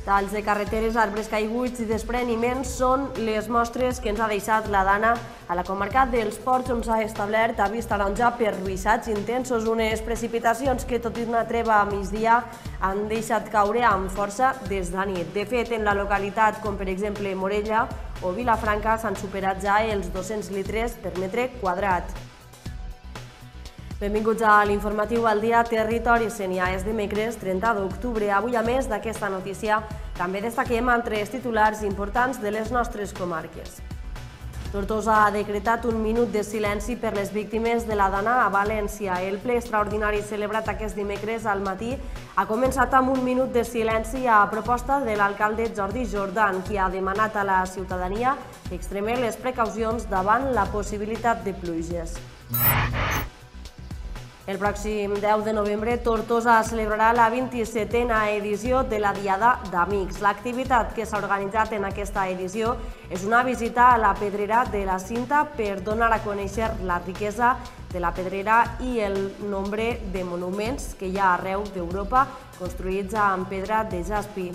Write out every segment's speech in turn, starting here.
Talls de carreteres, arbres caiguts i despreniments són les mostres que ens ha deixat la Dana a la comarca dels Ports, on s'ha establert avís taronja per ruixats intensos, unes precipitacions que, tot i una treva a migdia, han deixat caure amb força des de nit. De fet, en la localitat, com per exemple Morella o Vilafranca, s'han superat ja els 200 litres per metre quadrat. Benvinguts a l'informatiu al dia Territori Sénia. És dimecres 30 d'octubre. Avui, a més d'aquesta notícia, també destaquem altres titulars importants de les nostres comarques. Tortosa ha decretat un minut de silenci per les víctimes de la Dana a València. El ple extraordinari celebrat aquest dimecres al matí ha començat amb un minut de silenci a proposta de l'alcalde Jordi Jordan, qui ha demanat a la ciutadania que extreme les precaucions davant la possibilitat de pluges. El pròxim 10 de novembre, Tortosa celebrarà la 27a edició de la Diada d'Amics. L'activitat que s'ha organitzat en aquesta edició és una visita a la pedrera de la Cinta per donar a conèixer la riquesa de la pedrera i el nombre de monuments que hi ha arreu d'Europa construïts amb pedra de jaspi.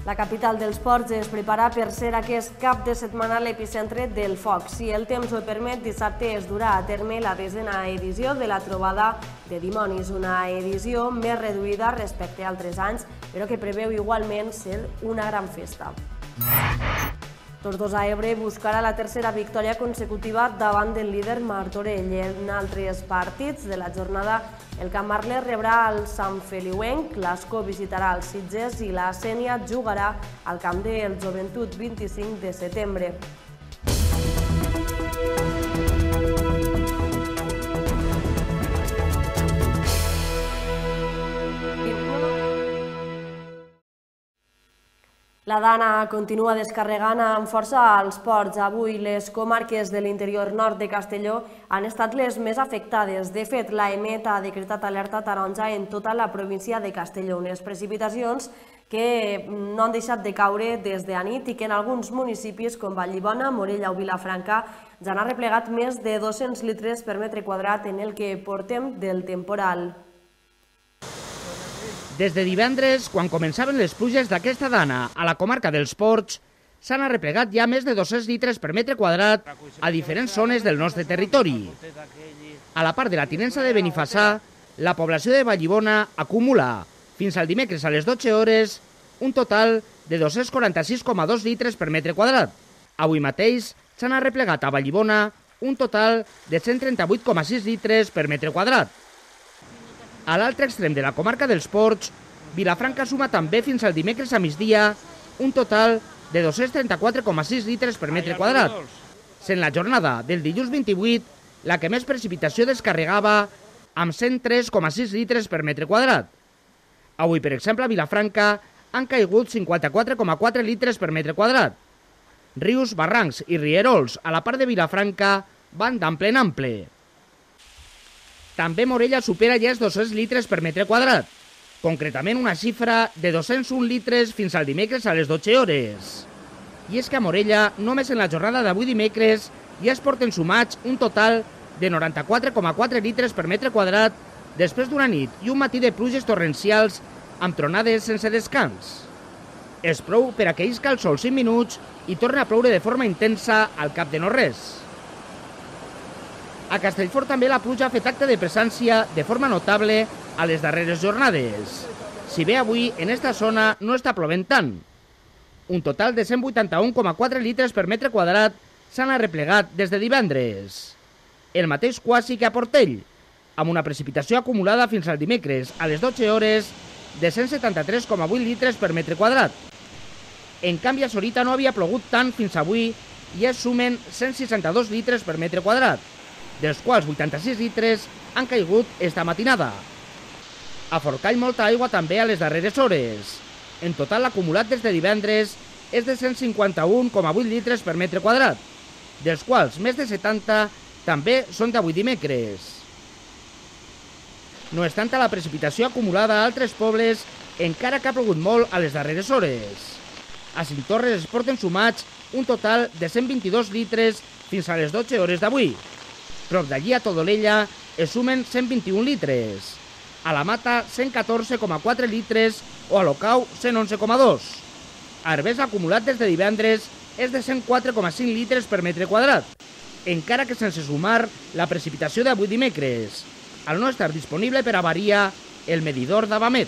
La capital dels ports es prepara per ser aquest cap de setmana l'epicentre del foc. Si el temps ho permet, dissabte es durà a terme la 10a edició de la Trobada de Dimonis, una edició més reduïda respecte a altres anys, però que preveu igualment ser una gran festa. Tortosa Ebre buscarà la tercera victòria consecutiva davant del líder Martorell. En altres partits de la jornada, el Camp Marler rebrà el Sant Feliuenc, l'Ascó visitarà els Sitges i la Sénia jugarà al camp del Joventut 25 de setembre. La Dana continua descarregant amb força als ports. Avui les comarques de l'interior nord de Castelló han estat les més afectades. De fet, l'AEMET ha decretat alerta taronja en tota la província de Castelló. Unes precipitacions que no han deixat de caure des de nit i que en alguns municipis com Vallibona, Morella o Vilafranca ja han arreplegat més de 200 litres per metre quadrat en el que portem del temporal. Des de divendres, quan començaven les pluges d'aquesta Dana a la comarca dels Ports, s'han arreplegat ja més de 200 litres per metre quadrat a diferents zones del nostre territori. A la part de la tinença de Benifassà, la població de Vallibona acumula, fins al dimecres a les 12 hores, un total de 246,2 litres per metre quadrat. Avui mateix s'han arreplegat a Vallibona un total de 138,6 litres per metre quadrat. A l'altre extrem de la comarca dels Ports, Vilafranca suma també fins al dimecres a migdia un total de 234,6 litres per metre quadrat. Sent la jornada del dilluns 28, la que més precipitació descarregava amb 103,6 litres per metre quadrat. Avui, per exemple, a Vilafranca han caigut 54,4 litres per metre quadrat. Rius, barrancs i rierols a la part de Vilafranca van d'ample en ample. També Morella supera ja els 200 litres per metre quadrat, concretament una xifra de 201 litres fins al dimecres a les 12 hores. I és que a Morella, només en la jornada d'avui dimecres, ja es porten sumats un total de 94,4 litres per metre quadrat després d'una nit i un matí de pluges torrencials amb tronades sense descans. És prou per a que isca el sol 5 minuts i torni a ploure de forma intensa al cap de no res. A Castellfort també la pluja ha fet acte de presència de forma notable a les darreres jornades. Si bé avui en esta zona no està plovent tant. Un total de 181,4 litres per metre quadrat s'han arreplegat des de divendres. El mateix quasi que a Portell, amb una precipitació acumulada fins al dimecres a les 12 hores de 173,8 litres per metre quadrat. En canvi, a Sorita no havia plogut tant fins avui i es sumen 162 litres per metre quadrat, dels quals 86 litres han caigut esta matinada. A Forcall molta aigua també a les darreres hores. En total l'acumulat des de divendres és de 151,8 litres per metre quadrat, dels quals més de 70 també són d'avui dimecres. No és tanta la precipitació acumulada a altres pobles, encara que ha plogut molt a les darreres hores. A Cinctorres es porten sumats un total de 122 litres fins a les 12 hores d'avui. Prop d'allí, a Todolella, es sumen 121 litres. A la Mata, 114,4 litres o a Locau 111,2. Arbès acumulat des de divendres és de 104,5 litres per metre quadrat, encara que sense sumar la precipitació d'avui dimecres, al no estar disponible per avaria el medidor d'Avamet.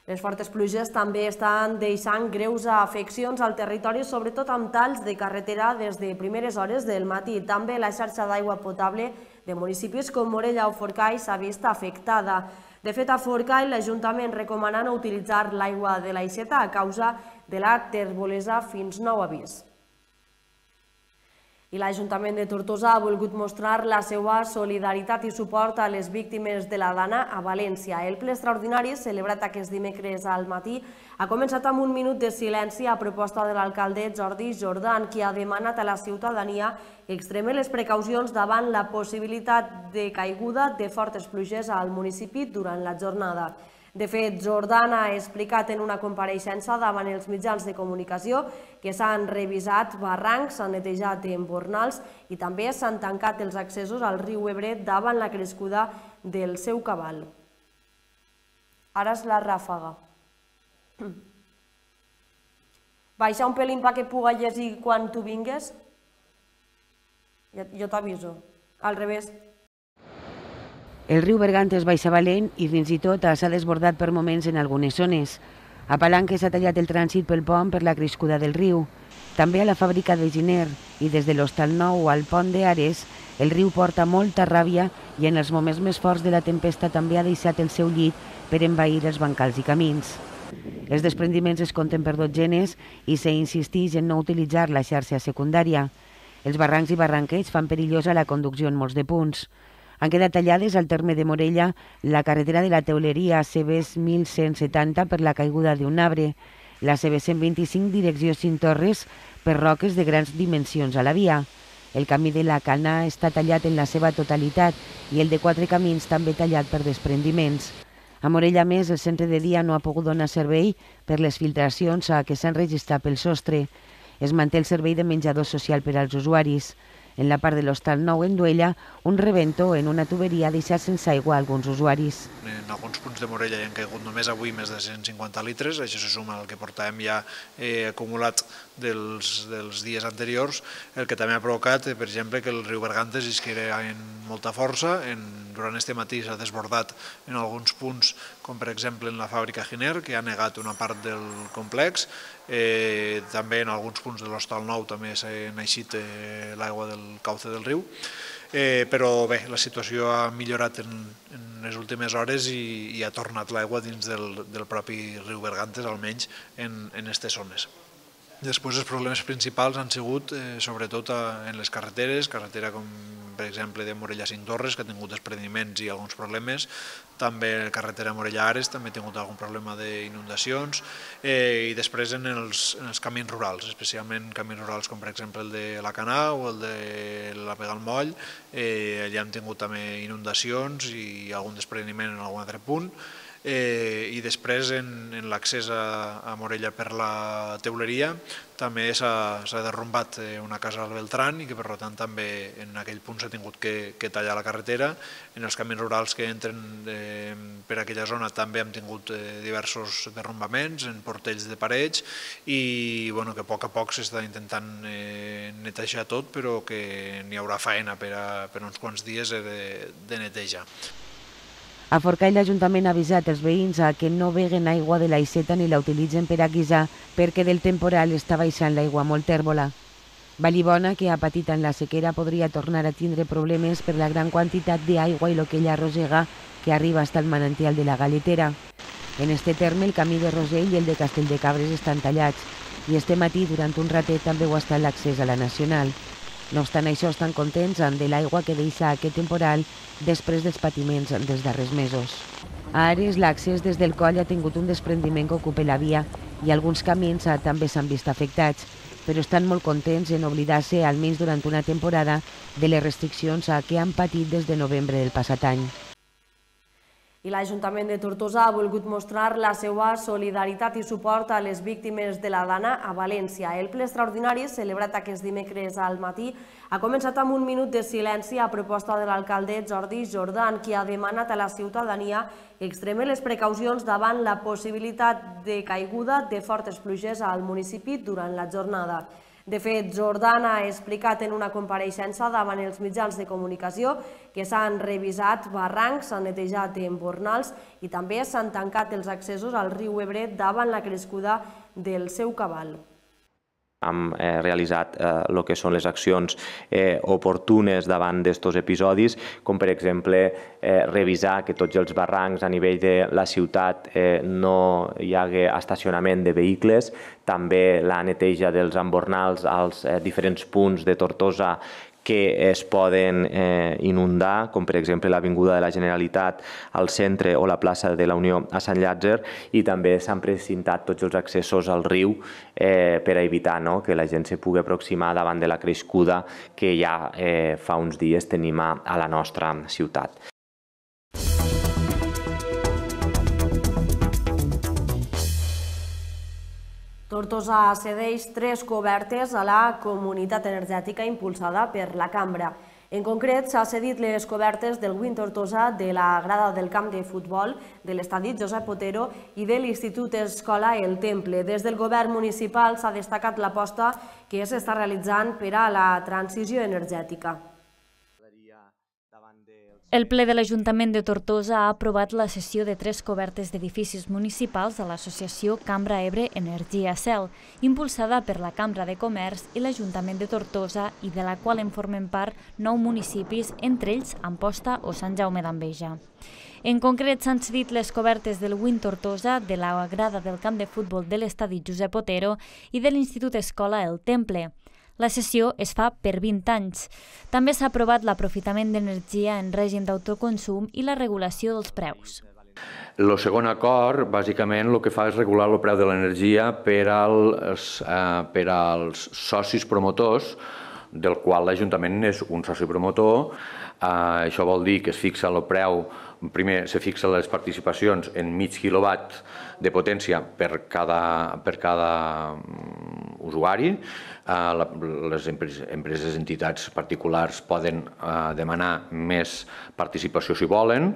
Les fortes pluges també estan deixant greus afeccions al territori, sobretot amb talls de carretera des de primeres hores del matí. També la xarxa d'aigua potable de municipis com Morella o Forcall s'ha vist afectada. De fet, a Forcall l'Ajuntament recomana no utilitzar l'aigua de l'aixeta a causa de la terbolesa fins nou avís. I l'Ajuntament de Tortosa ha volgut mostrar la seva solidaritat i suport a les víctimes de la Dana a València. El ple extraordinari, celebrat aquest dimecres al matí, ha començat amb un minut de silenci a proposta de l'alcalde Jordi Jordan, qui ha demanat a la ciutadania extremar les precaucions davant la possibilitat de caiguda de fortes pluges al municipi durant la jornada. De fet, Jordan ha explicat en una compareixença davant els mitjans de comunicació que s'han revisat barrancs, s'han netejat embornals i també s'han tancat els accessos al riu Ebre davant la crescuda del seu cabal. Ara és la ràfaga. Baixa un pelín perquè puga llegir quan tu vingues? Jo t'aviso. Al revés. El riu Bergantes baixa valent i fins i tot s'ha desbordat per moments en algunes zones. A Palanques s'ha tallat el trànsit pel pont per la crescuda del riu. També a la fàbrica de Giner i des de l'Hostal Nou al pont d'Ares el riu porta molta ràbia i en els moments més forts de la tempesta també ha deixat el seu llit per envair els bancals i camins. Els desprendiments es compten per dotzenes i s'insisteix en no utilitzar la xarxa secundària. Els barrancs i barranquets fan perillosa la conducció en molts de punts. Han quedat tallades al terme de Morella la carretera de la Teuleria CB 1170 per la caiguda d'un arbre, la CB 125 direcció Cintorres per roques de grans dimensions a la via. El camí de la Cana està tallat en la seva totalitat i el de Quatre Camins també tallat per desprendiments. A Morella, més, el centre de dia no ha pogut donar servei per les filtracions que s'han registrat pel sostre. Es manté el servei de menjador social per als usuaris. En la part de l'Hostal Nou en Duella, un rebento en una tuberia ha deixat sense aigua alguns usuaris. En alguns punts de Morella hi han caigut només avui més de 150 litres, això se suma al que portàvem ja acumulat dels dies anteriors, el que també ha provocat, per exemple, que el riu Bergantes isquera amb molta força. Durant este matí s'ha desbordat en alguns punts, com per exemple en la fàbrica Giner, que ha negat una part del complex. També en alguns punts de l'Hostal Nou també s'ha eixit l'aigua del cauce del riu, però bé, la situació ha millorat en les últimes hores i ha tornat l'aigua dins del propi riu Bergantes, almenys en aquestes zones. Després els problemes principals han sigut sobretot en les carreteres, carretera com per exemple de Morella a Cintorres, que ha tingut desprendiments i alguns problemes, també carretera Morella-Ares també ha tingut algun problema d'inundacions, i després en els camins rurals, especialment camins rurals com per exemple el de la Canà o el de la Vega al Moll, allà hem tingut també inundacions i algun desprendiment en algun altre punt. I després en l'accés a Morella per la Teuleria també s'ha derrumbat una casa al Beltrán i que per tant també en aquell punt s'ha tingut que tallar la carretera. En els camins rurals que entren per aquella zona també hem tingut diversos derrumbaments en portells de parets i que a poc s'està intentant netejar tot, però que n'hi haurà faena per uns quants dies de neteja. A Forcall l'Ajuntament ha avisat els veïns que no beguen aigua de l'aixeta ni la utilitzen per a guisar perquè del temporal està baixant l'aigua molt tèrbola. Vallibona, que ha patit en la sequera, podria tornar a tindre problemes per la gran quantitat d'aigua i el que ella arrossega que arriba fins al manantial de la Galetera. En este terme, el camí de Rosell i el de Castelldecabres estan tallats i este matí, durant un ratet, també ho ha estat l'accés a la Nacional. No obstant això, estan contents de l'aigua que deixa aquest temporal després dels patiments dels darrers mesos. A Ares, l'accés des del coll ha tingut un desprendiment que ocupa la via i alguns camins també s'han vist afectats, però estan molt contents en oblidar-se, almenys durant una temporada, de les restriccions que han patit des de novembre del passat any. I l'Ajuntament de Tortosa ha volgut mostrar la seva solidaritat i suport a les víctimes de la Dana a València. El ple extraordinari, celebrat aquest dimecres al matí, ha començat amb un minut de silenci a proposta de l'alcalde Jordi Jordan, qui ha demanat a la ciutadania que extreme les precaucions davant la possibilitat de caiguda de fortes pluges al municipi durant la jornada. De fet, Jordan ha explicat en una compareixença davant els mitjans de comunicació que s'han revisat barrancs, s'han netejat embornals i també s'han tancat els accessos al riu Ebre davant la crescuda del seu cabal. Hem realitzat el que són les accions oportunes davant d'aquests episodis, com per exemple revisar que tots els barrancs a nivell de la ciutat no hi hagi estacionament de vehicles, també la neteja dels embornals als diferents punts de Tortosa que es poden inundar, com per exemple l'Avinguda de la Generalitat al centre o la plaça de la Unió a Sant Llàtzer, i també s'han precintat tots els accessos al riu per a evitar que la gent se pugui aproximar davant de la crescuda que ja fa uns dies tenim a la nostra ciutat. Tortosa cedeix 3 cobertes a la comunitat energètica impulsada per la Cambra. En concret, s'ha cedit les cobertes del Win Tortosa, de la grada del camp de futbol, de l'estadi Josep Otero i de l'Institut Escola El Temple. Des del govern municipal s'ha destacat l'aposta que s'està realitzant per a la transició energètica. El ple de l'Ajuntament de Tortosa ha aprovat la cessió de 3 cobertes d'edificis municipals a l'associació Cambra Ebre Energia Cel, impulsada per la Cambra de Comerç i l'Ajuntament de Tortosa i de la qual en formen part 9 municipis, entre ells Amposta o Sant Jaume d'Enveja. En concret, s'han cedit les cobertes del Win Tortosa, de la grada del camp de futbol de l'estadi Josep Otero i de l'Institut Escola El Temple. La cessió es fa per 20 anys. També s'ha aprovat l'aprofitament d'energia en règim d'autoconsum i la regulació dels preus. El segon acord, bàsicament, el que fa és regular el preu de l'energia per als socis promotors, del qual l'Ajuntament és un soci promotor. Això vol dir que es fixa el preu, primer se fixen les participacions en mig quilowatt de potència per cada usuari. Les empreses, entitats particulars poden demanar més participació si volen,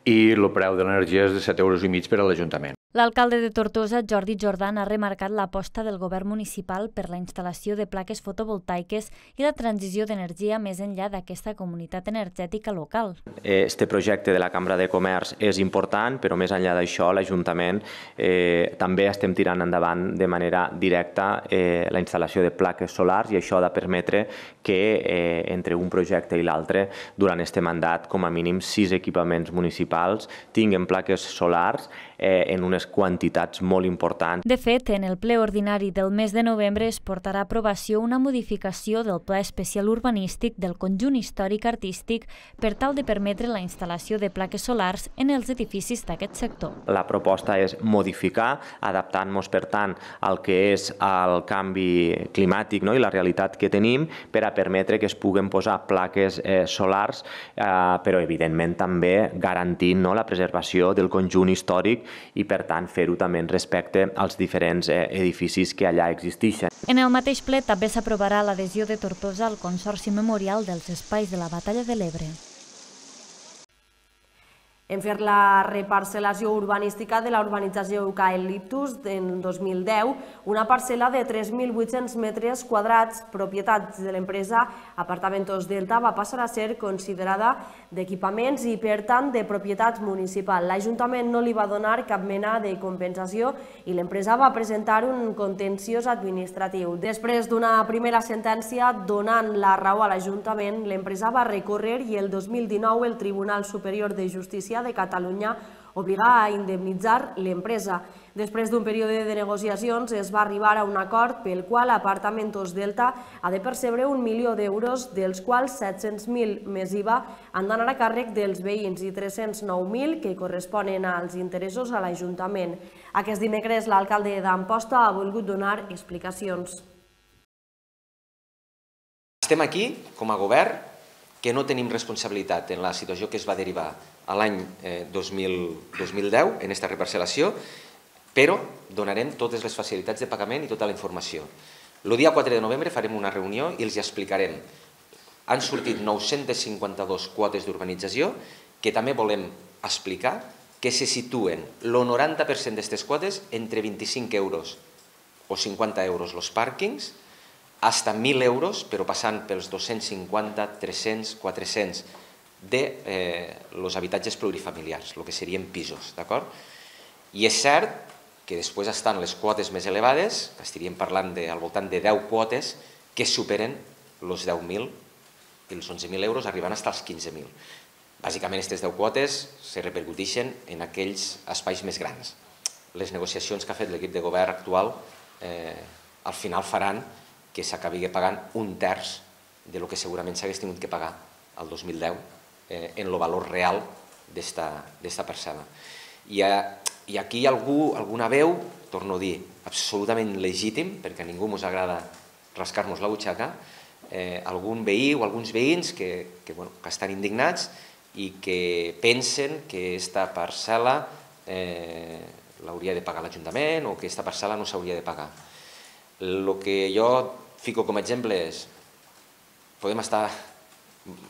i el preu de l'energia és de 7,5 € per a l'Ajuntament. L'alcalde de Tortosa, Jordi Jordan, ha remarcat l'aposta del govern municipal per la instal·lació de plaques fotovoltaiques i la transició d'energia més enllà d'aquesta comunitat energètica local. Este projecte de la Cambra de Comerç és important, però més enllà d'això, l'Ajuntament també estem tirant endavant de manera directa la instal·lació de plaques solars, i això ha de permetre que entre un projecte i l'altre, durant este mandat, com a mínim 6 equipaments municipals tinguen plaques solars en unes quantitats molt importants. De fet, en el ple ordinari del mes de novembre es portarà a aprovació una modificació del Pla Especial Urbanístic del conjunt històric-artístic per tal de permetre la instal·lació de plaques solars en els edificis d'aquest sector. La proposta és modificar, adaptant-nos, per tant, al que és el canvi climàtic i la realitat que tenim, per a permetre que es puguen posar plaques solars, però evidentment també garantint la preservació del conjunt històric i, per tant, fer-ho també respecte als diferents edificis que allà existeixen. En el mateix ple també s'aprovarà l'adhesió de Tortosa al Consorci Memorial dels Espais de la Batalla de l'Ebre. En fer la reparcel·lació urbanística de la urbanització Eucaliptus en 2010, una parcel·la de 3.800 metres quadrats, propietat de l'empresa Apartamentos Delta, va passar a ser considerada d'equipaments i, per tant, de propietat municipal. L'Ajuntament no li va donar cap mena de compensació i l'empresa va presentar un contenciós administratiu. Després d'una primera sentència donant la raó a l'Ajuntament, l'empresa va recórrer i el 2019 el Tribunal Superior de Justícia de Catalunya obligar a indemnitzar l'empresa. Després d'un període de negociacions es va arribar a un acord pel qual Apartamentos Delta ha de percebre 1 milió d'euros, dels quals 700.000 més IVA han d'anar a càrrec dels veïns i 309.000 que corresponen als interessos a l'Ajuntament. Aquest dimecres l'alcalde d'Amposta ha volgut donar explicacions. Estem aquí, com a govern, que no tenim responsabilitat en la situació que es va derivar a l'any 2010 en aquesta reparcel·lació, però donarem totes les facilitats de pagament i tota la informació. El dia 4 de novembre farem una reunió i els explicarem. Han sortit 952 quotes d'urbanització que també volem explicar que se situen el 90% d'aquestes quotes entre 25 euros o 50 euros els pàrquings, fins a 1.000 euros, però passant pels 250, 300, 400 dels habitatges plurifamiliars, el que serien pisos, d'acord? I és cert que després estan les quotes més elevades, que estaríem parlant al voltant de 10 quotes, que superen els 10.000 i els 11.000 euros, arribant fins als 15.000. Bàsicament, aquestes 10 quotes se repercuteixen en aquells espais més grans. Les negociacions que ha fet l'equip de govern actual al final faran que s'acabi pagant un terç del que segurament s'hagués tingut que pagar el 2010 en el valor real d'esta parcel·la. I aquí hi ha alguna veu, torno a dir, absolutament legítim, perquè a ningú ens agrada rascar-nos la butxaca, algun veí o alguns veïns que estan indignats i que pensen que aquesta parcel·la l'hauria de pagar l'Ajuntament o que aquesta parcel·la no s'hauria de pagar. El que jo fico com a exemple és podem estar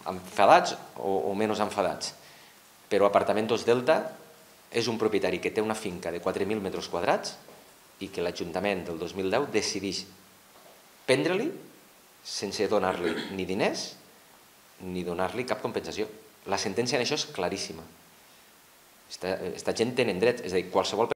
enfadats o menys enfadats, però Apartamentos Delta és un propietari que té una finca de 4.000 metres quadrats i que l'Ajuntament del 2010 decideix prendre-li sense donar-li ni diners ni donar-li cap compensació. La sentència en això és claríssima. Aquesta gent tenen dret, és a dir, qualsevol...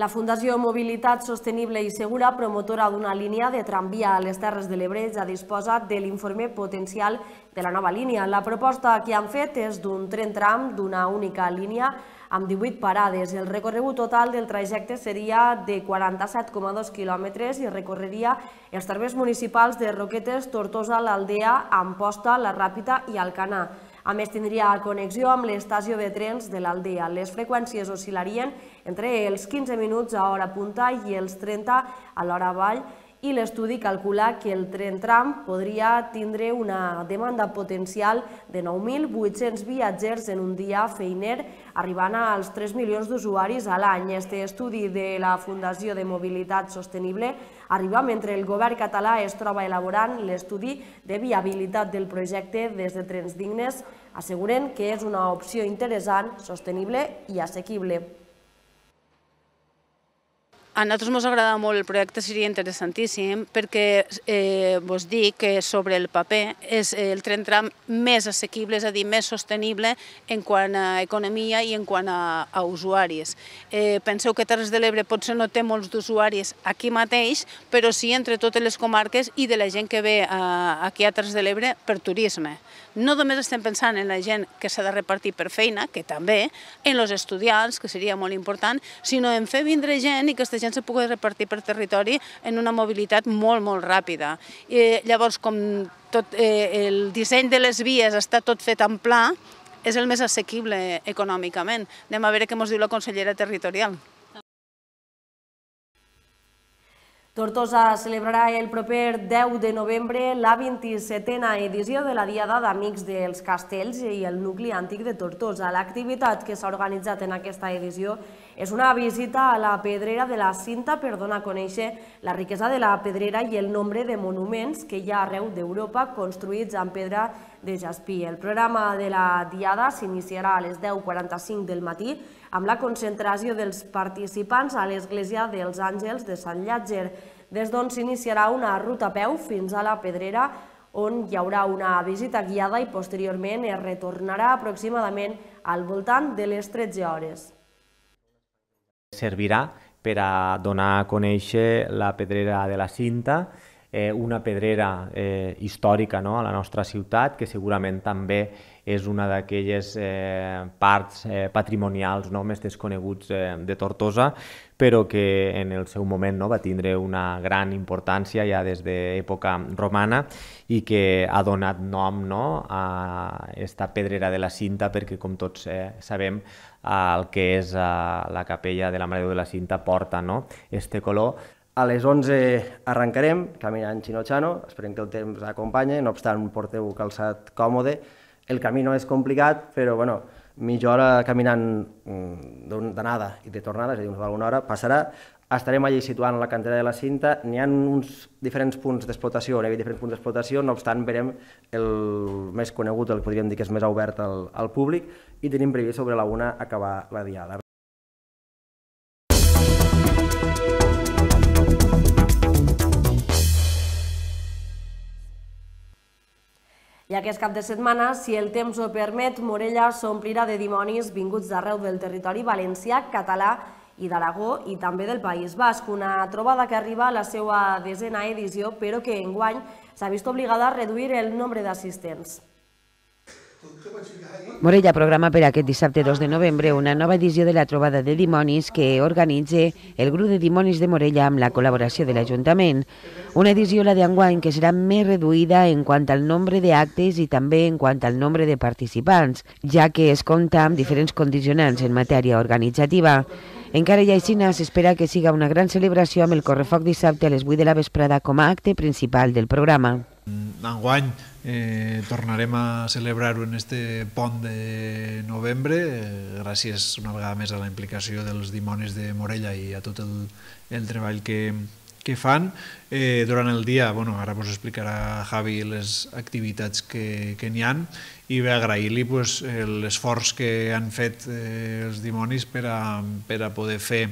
La Fundació Mobilitat Sostenible i Segura, promotora d'una línia de tramvia a les Terres de l'Ebre, ja disposa de l'informe potencial de la nova línia. La proposta que han fet és d'un tren tram d'una única línia amb 18 parades. El recorregut total del trajecte seria de 47,2 quilòmetres i recorreria els termes municipals de Roquetes, Tortosa, l'Aldea, Amposta, la Ràpita i Alcanar. A més, tindria connexió amb l'estació de trens de l'Aldea. Les freqüències oscil·larien entre els 15 minuts a hora punta i els 30 a l'hora avall, i l'estudi calcula que el tren tram podria tindre una demanda potencial de 9.800 viatgers en un dia feiner, arribant als 3 milions d'usuaris a l'any. Este estudi de la Fundació de Mobilitat Sostenible arriba mentre el govern català es troba elaborant l'estudi de viabilitat del projecte des de Trens Dignes, asseguren que és una opció interessant, sostenible i assequible. A nosaltres ens agrada molt el projecte, seria interessantíssim, perquè vos dic que sobre el paper és el tren tram més assequible, és a dir, més sostenible en quant a economia i en quant a usuaris. Penseu que Terres de l'Ebre potser no té molts d'usuaris aquí mateix, però sí entre totes les comarques i de la gent que ve aquí a Terres de l'Ebre per turisme. No només estem pensant en la gent que s'ha de repartir per feina, que també, en els estudiants, que seria molt important, sinó en fer vindre gent i que aquesta gent se pugui repartir per territori en una mobilitat molt, molt ràpida. Llavors, com el disseny de les vies està tot fet en pla, és el més assequible econòmicament. Anem a veure què ens diu la consellera territorial. Tortosa celebrarà el proper 10 de novembre la 27a edició de la Diada d'Amics dels Castells i el nucli antic de Tortosa. L'activitat que s'ha organitzat en aquesta edició és una visita a la pedrera de la Cinta per donar a conèixer la riquesa de la pedrera i el nombre de monuments que hi ha arreu d'Europa construïts amb pedra de jaspí. El programa de la Diada s'iniciarà a les 10:45 del matí amb la concentració dels participants a l'Església dels Àngels de Sant Llàtzer, des d'on s'iniciarà una ruta a peu fins a la Pedrera, on hi haurà una visita guiada i posteriorment es retornarà aproximadament al voltant de les 13 hores. Servirà per a donar a conèixer la pedrera de la Cinta, una pedrera històrica a la nostra ciutat, que segurament també és una d'aquelles parts patrimonials més desconeguts de Tortosa, però que en el seu moment va tindre una gran importància ja des d'època romana i que ha donat nom a aquesta pedrera de la Cinta, perquè com tots sabem el que és la capella de la Mare de Déu de la Cinta porta este color. A les 11 arrencarem, caminant xino-xano, esperem que el temps acompanyi, no obstant porteu calçat còmode. El camí no és complicat, però mitja hora caminant d'anada i de tornada, és a dir, una hora, passarà. Estarem allí situant la cantera de la cinta. N'hi ha uns diferents punts d'explotació, no obstant verem el més conegut, el que podríem dir que és més obert al públic, i tenim previst sobre la 1 acabar la diada. I aquest cap de setmana, si el temps ho permet, Morella s'omplirà de dimonis vinguts d'arreu del territori valencià, català i d'Aragó i també del País Basc. Una trobada que arriba a la seva 10ª edició, però que enguany s'ha vist obligada a reduir el nombre d'assistents. Morella programa per aquest dissabte 2 de novembre una nova edició de la trobada de dimonis que organitza el grup de dimonis de Morella amb la col·laboració de l'Ajuntament. Una edició, la d'enguany, que serà més reduïda en quant al nombre d'actes i també en quant al nombre de participants, ja que es compta amb diferents condicionants en matèria organitzativa. Encara i així s'espera que siga una gran celebració amb el correfoc dissabte a les 8 de la vesprada com a acte principal del programa. Enguany tornarem a celebrar-ho en este pont de novembre, gràcies una vegada més a la implicació dels dimonis de Morella i a tot el treball que fan. Durant el dia, ara us explicarà Javi les activitats que n'hi ha, i bé agrair-li l'esforç que han fet els dimonis per a poder fer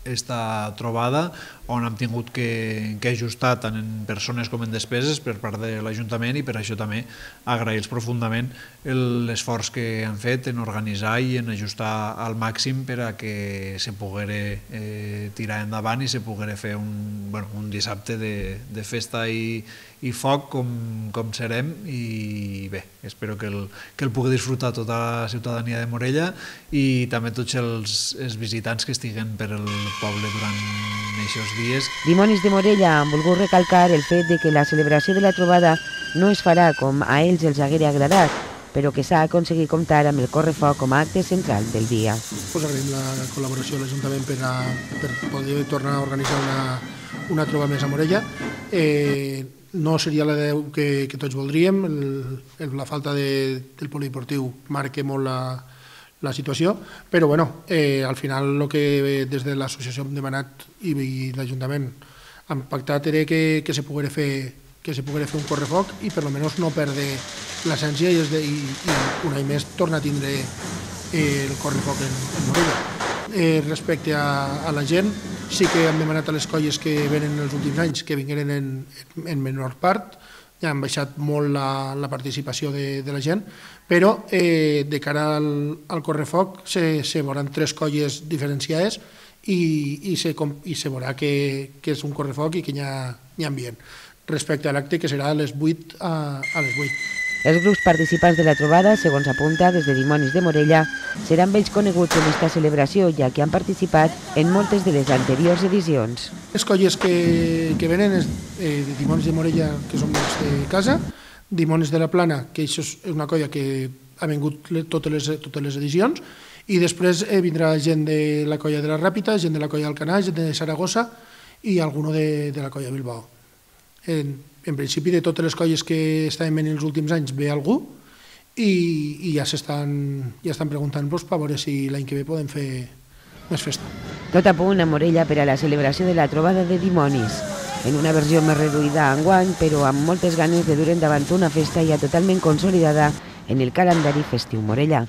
esta trobada, on hem tingut que ajustar tant en persones com en despeses per part de l'Ajuntament, i per això també agrair-los profundament l'esforç que han fet en organitzar i en ajustar al màxim per a que se poguera tirar endavant i se poguera fer un dissabte de festa i foc com serem. I bé, espero que el pugui disfrutar tota la ciutadania de Morella i també tots els visitants que estiguen per el poble durant aquests dies. Dimonis de Morella han volgut recalcar el fet de que la celebració de la trobada no es farà com a ells els haguera agradat, però que s'ha aconseguit comptar amb el correfoc com a acte central del dia. Agraïm la col·laboració de l'Ajuntament per poder tornar a organitzar una trobada més a Morella. No seria la 10 que tots voldríem, la falta del polideportiu marca molt la situació, però al final el que des de l'associació hem demanat i l'Ajuntament han pactat era que se poguera fer un correfoc i per almenys no perdre l'essència i un any més tornar a tindre el correfoc en Morella. Respecte a la gent, sí que hem demanat a les colles que venen els últims anys que vingueren en menor part, ja han baixat molt la participació de la gent, però de cara al correfoc se veuran 3 colles diferenciades i se veurà que és un correfoc i que hi ha ambient. Respecte a l'acte, que serà a les 8 a les 8. Els grups participants de la trobada, segons apunta des de Dimonis de Morella, seran vells coneguts en aquesta celebració, ja que han participat en moltes de les anteriors edicions. Les colles que venen és Dimonis de Morella, que són de casa, Dimonis de la Plana, que això és una colla que ha vingut totes les edicions, i després vindrà gent de la colla de la Ràpita, gent de la colla d'Alcanar, gent de Saragossa i alguno de la colla de Bilbao. En principi, de totes les colles que estaven venint els últims anys ve algú i ja estan preguntant per veure si l'any que ve podem fer més festa. Tot a punt a Morella per a la celebració de la trobada de dimonis, en una versió més reduïda enguany, però amb moltes ganes de dur endavant una festa ja totalment consolidada en el calendari festiu morellà.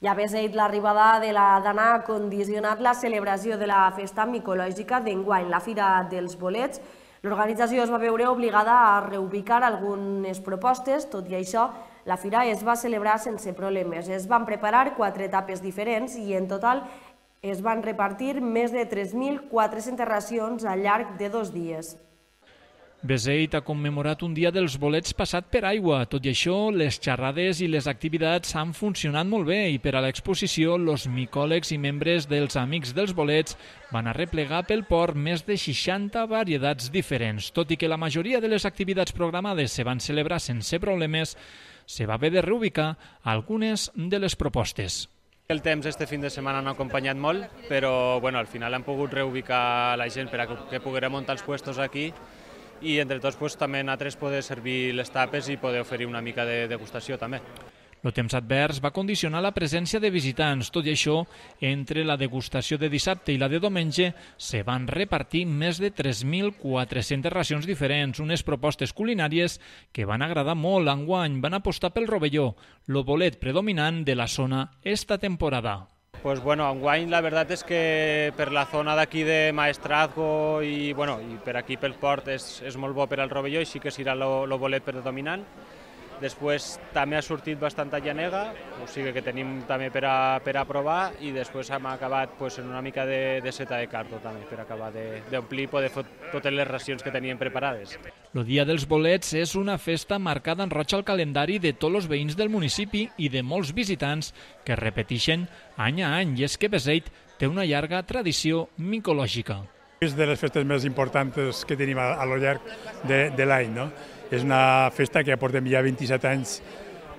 Ja hagués dit, l'arribada de la Dana ha condicionat la celebració de la festa micològica d'enguany, la Fira dels Bolets. L'organització es va veure obligada a reubicar algunes propostes, tot i això, la Fira es va celebrar sense problemes. Es van preparar 4 etapes diferents i en total es van repartir més de 3.400 racions al llarg de 2 dies. Beseit ha commemorat un dia dels bolets passat per aigua. Tot i això, les xerrades i les activitats han funcionat molt bé i per a l'exposició, els micòlegs i membres dels Amics dels Bolets van arreplegar pel port més de 60 varietats diferents. Tot i que la majoria de les activitats programades se van celebrar sense problemes, se va haver de reubicar algunes de les propostes. El temps este fin de setmana no ha acompanyat molt, però al final hem pogut reubicar la gent per a que poguérem muntar els puestos aquí i entre tots també nosaltres poder servir les tapes i poder oferir una mica de degustació també. El temps advers va condicionar la presència de visitants. Tot i això, entre la degustació de dissabte i la de diumenge se van repartir més de 3.400 racions diferents, unes propostes culinàries que van agradar molt enguany. Van apostar pel rovelló, el bolet predominant de la zona esta temporada. Enguany la veritat és que per la zona d'aquí de Maestrazgo i per aquí pel port és molt bo per al rovelló i sí que serà el bolet predominant. Després també ha sortit bastant llanega, o sigui que tenim també per a provar i després hem acabat en una mica de seta de cardo també per acabar d'omplir i poder fer totes les racions que teníem preparades. El Dia dels Bolets és una festa marcada en roig al calendari de tots els veïns del municipi i de molts visitants que repeteixen any a any, i és que Beseit té una llarga tradició micològica. És de les festes més importants que tenim a lo llarg de l'any, no? És una festa que ja portem ja 27 anys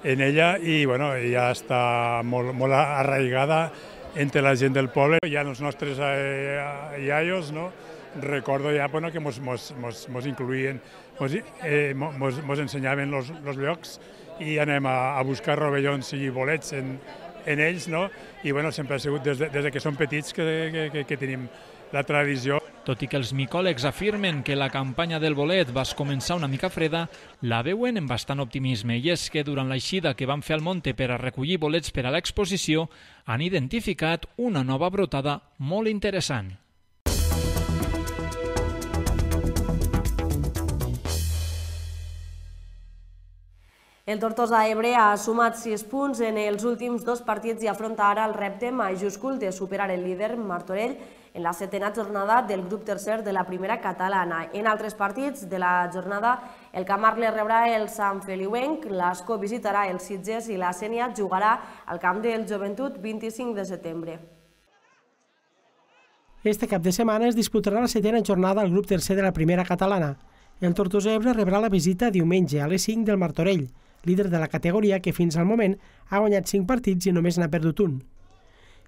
en ella i ja està molt arraigada entre la gent del poble. Ja els nostres iaios, recordo ja que mos incluïen, mos ensenyaven els llocs i anem a buscar rovellons i bolets en ells, i sempre ha sigut des que som petits que tenim la tradició. Tot i que els micòlegs afirmen que la campanya del bolet va començar una mica freda, la veuen amb bastant optimisme, i és que durant l'eixida que van fer al Monte per a recollir bolets per a l'exposició han identificat una nova brotada molt interessant. El Tortosa Ebre ha sumat 6 punts en els últims 2 partits i afronta ara el repte majúscul de superar el líder Martorell en la 7ª jornada del grup tercer de la primera catalana. En altres partits de la jornada, el Camarles rebrà el Sant Feliuenc, l'Ascó visitarà el Sitges i la Sénia jugarà al camp del Joventut 25 de setembre. Este cap de setmana es disputarà la 7ª jornada al grup tercer de la primera catalana. El Tortosa Ebre rebrà la visita diumenge a les 5 del Martorell, líder de la categoria que fins al moment ha guanyat 5 partits i només n'ha perdut un.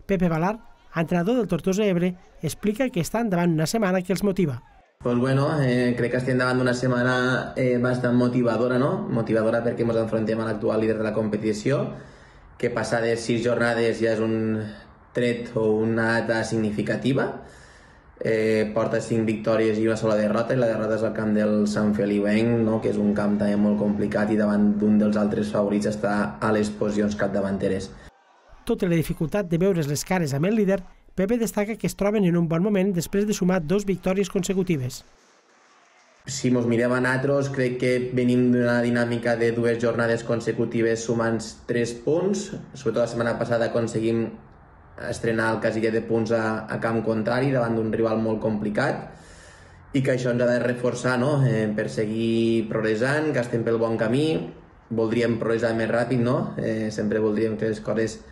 Pepe Valar, entrenador del Tortosa Ebre, explica que estan davant una setmana que els motiva. Crec que estem davant d'una setmana bastant motivadora, motivadora perquè ens enfrontem a l'actual líder de la competició, que passades 6 jornades ja és un tret o una data significativa. Porta 5 victòries i una sola derrota, i la derrota és al camp del Sant Feliuenc, que és un camp també molt complicat i davant d'un dels altres favorits està a les posicions capdavanteres. Tot i la dificultat de veure's les cares amb el líder, Pepe destaca que es troben en un bon moment després de sumar 2 victòries consecutives. Si ens mirem a nosaltres, crec que venim d'una dinàmica de 2 jornades consecutives sumant 3 punts. Sobretot la setmana passada aconseguim estrenar el casiller de punts a camp contrari davant d'un rival molt complicat i que això ens ha de reforçar per seguir progressant, que estem pel bon camí. Voldríem progressar més ràpid, sempre voldríem que les coses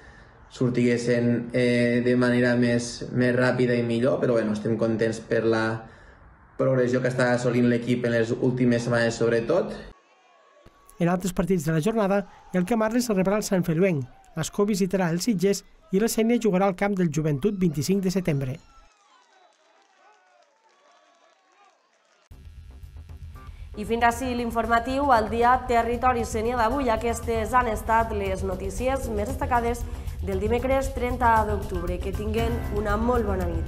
sortiguessin de manera més ràpida i millor, però estem contents per la progressió que està assolint l'equip en les últimes setmanes sobretot. En altres partits de la jornada, el Camarles rebrà el Sant Feliuenc, l'Ascó visitarà el Sitges i la Sénia jugarà al camp del Joventut 25 de setembre. I fins així l'informatiu al dia Territori Sénia d'avui. Aquestes han estat les notícies més destacades del dimecres 30 d'octubre. Que tinguen una molt bona nit.